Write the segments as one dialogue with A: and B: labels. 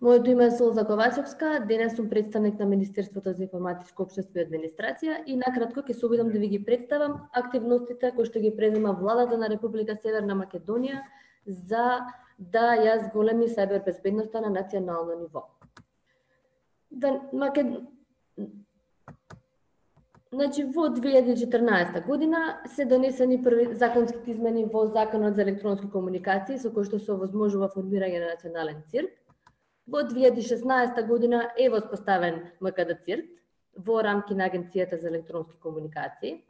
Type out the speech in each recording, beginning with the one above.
A: Моето име е Солза Ковачевска, денес сум представник на Министерството за информатичко општество и администрација и накратко ќе се обидам да ви ги представам активностите кои што ги презема владата на Република Северна Македонија за да ја зголеми сајбер безбедноста на национално ниво. Значи, во 2014 година се донесени први законските измени во Законот за електронски комуникации со кои што се овозможува формирање на национален цирк. Во 2016 година е воспоставен МКД ЦИРК во рамки на Агенцијата за електронски комуникации.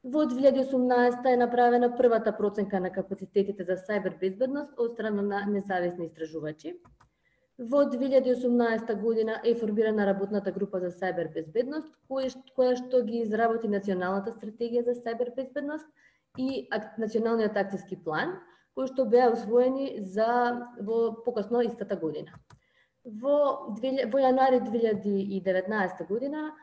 A: Во 2018 е направена првата проценка на капацитетите за сајбер безбедност од страна на независни истражувачи. Во 2018 година е формирана работната група за сајбер безбедност, која што ги изработи националната стратегија за сајбер безбедност и националниот акцијски план, кои што беа усвоени во покасно истата година. Во јануари 2019 година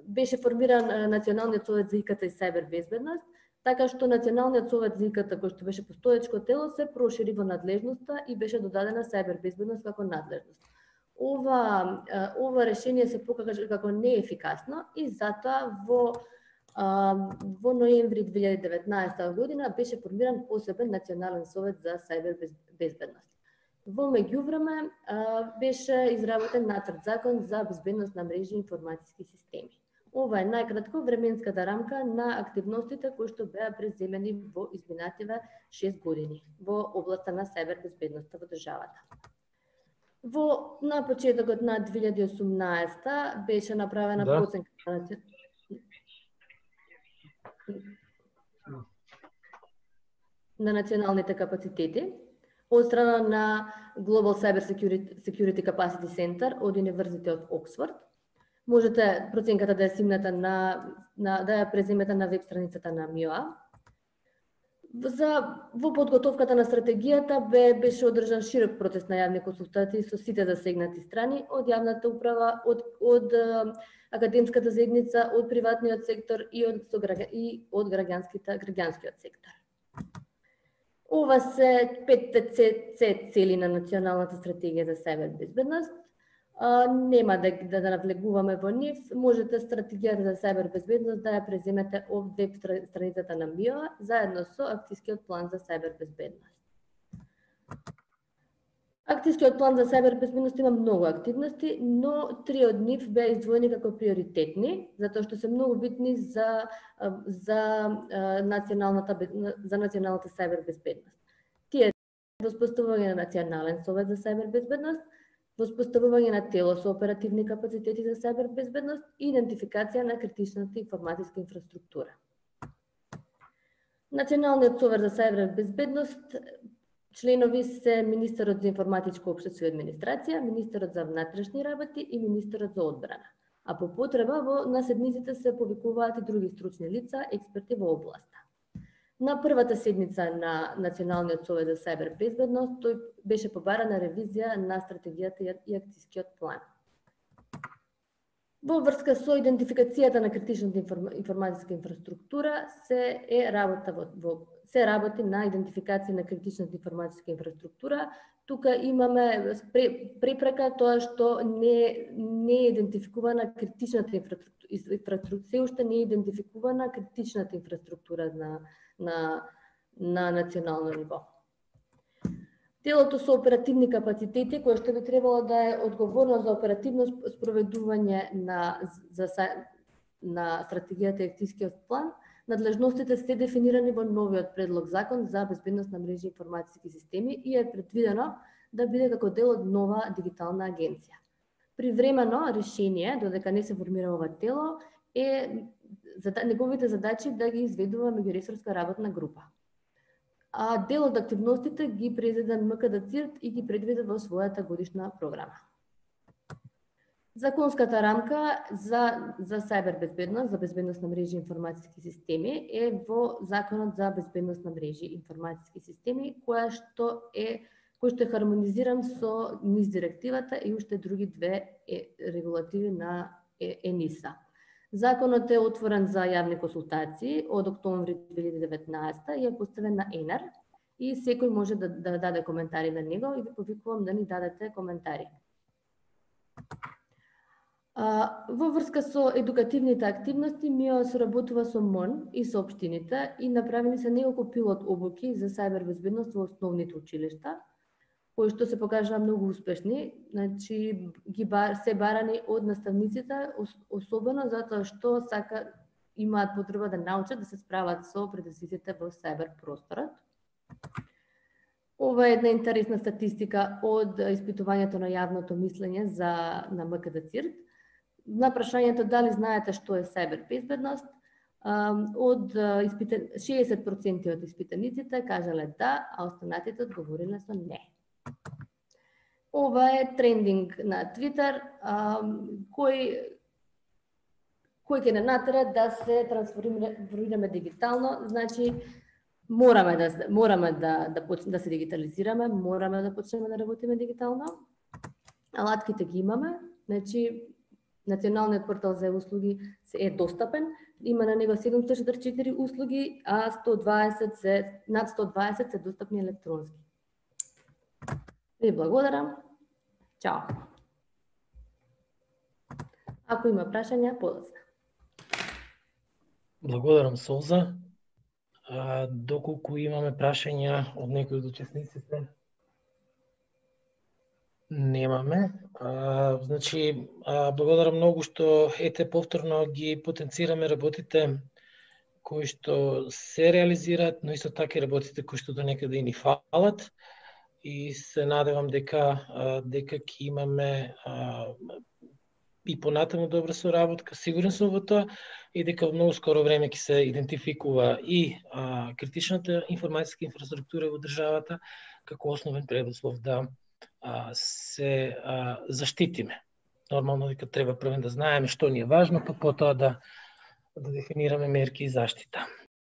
A: беше формиран Националниот совет за ИКТ и сајбер безбедност, така што Националниот совет за ИКТ, кој што беше постоечко тело, се прошири во надлежноста и беше додадена сајбер безбедност како надлежност. Ова решение се покажа како неефикасно и затоа во ноември 2019 година беше формиран посебен Национален совет за сајбер безбедност. Во меѓувреме беше изработен нацрт закон за безбедност на мрежи и информатиски системи. Ова е најкратко временската рамка на активностите кои што беа преземени во изминативе 6 години во областа на сајбер безбедноста во државата. На почетокот на 2018 беше направена проценка на националните капацитети од страна на Global Cyber Security Capacity Center од Универзитетот Оксфорд. Можете проценката да ја симнете да ја преземете на веб страницата на МИОА. Во подготовката на стратегијата беше одржан широк процес на јавни консултации со сите засегнати страни, од јавната управа, од академската заедница, од приватниот сектор и од граѓанскиот сектор. Ова се 5 цели на Националната стратегија за сајбер безбедност. Нема да навлегуваме во нив. Можете стратегијата за сајбер безбедност да ја преземете од веб страницата на МИОА заедно со акцијскиот план за сајбер безбедност. Акцијскиот план за сајбер безбедност има многу активности, но 3 од нив беа издвоени како приоритетни, затоа што се многу битни за националната сајбер безбедност. Тие воспоставување на Национален совет за сајбер безбедност, воспоставување на тело со оперативни капацитети за сајбер безбедност и идентификација на критичната информатиска инфраструктура. Националниот совет за сајбер безбедност членови се Министерот за информатичко општество и администрација, Министерот за внатрешни работи и Министерот за одбрана. А по потреба на седниците се повикуваат и други стручни лица, експерти во областа. На првата седница на Националниот совет за сајбер безбедност тој беше побарана ревизија на стратегијата и акцијскиот план. Во врска со идентификацијата на критичната информатиска инфраструктура се работи на идентификација на критичната информатиска инфраструктура. Тука имаме препрека тоа што не е идентификувана критичната инфраструктура, се уште не е идентификувана критичната инфраструктура на национално ниво. Телото со оперативни капацитети, кое што би требало да е одговорно за оперативно спроведување на стратегијата и акцијскиот план, надлежностите се дефинирани во новиот предлог закон за безбедност на мрежи и информатиски системи и е предвидено да биде како дел од нова дигитална агенција. Привремено решение, додека не се формира ова тело, е неговите задачи да ги изведува меѓуресорска работна група. А дел од активностите ги презеде МКД ЦИРК и ги предвиде во својата годишна програма. Законската рамка за сајбер безбедност, за безбедност на мрежи и информатиски системи е во Законот за безбедност на мрежи и информатиски системи, кој што е хармонизиран со НИС директивата и уште други две регулативи на ЕНИСА. Законот е отворен за јавни консултации од октомври 2019 и е поставен на ЕНАР и секој може да даде коментари на него и ви повикувам да ни дадете коментари. Во врска со едукативните активности, МИО соработува со МОН и со општините и направени се неколку пилот обуки за сајбер безбедност во основните училишта, кои што се покажаа многу успешни, значи се барани од наставниците, особено затоа што имаат потреба да научат да се справат со предизвиците во сајбер просторот. Ова е една интересна статистика од испитувањето на јавното мислење на МКД ЦИРТ. На прашањето дали знаете што е сајбер безбедност, од 60% од испитаниците кажале да, а останатите одговориле со не. Ова е трендинг на Твитер, кој ќе не натера да се трансформираме дигитално, значи мораме да се дигитализираме, мораме да почнеме да работиме дигитално. Алатките ги имаме, значи Националниот портал за услуги е достапен, има на него 744 услуги, а над 120 се достапни електронски. Ви благодарам. Чао. Ако има прашања, подоцна.
B: Благодарам, Солза. Доколку имаме прашања од некој од учесниците? Немаме. Значи, благодарам многу што повторно ги потенцираме работите кои што се реализираат, но исто така и работите кои што до некаде и ни фалат. И се надевам дека ќе имаме и понатаму добра соработка, сигурен сум во тоа, и дека во многу скоро време ќе се идентификува и критичната информацијска инфраструктура во државата како основен предуслов да се заштитиме. Нормално дека треба прво да знаеме што ни е важно, па потоа да дефинираме мерки и заштита.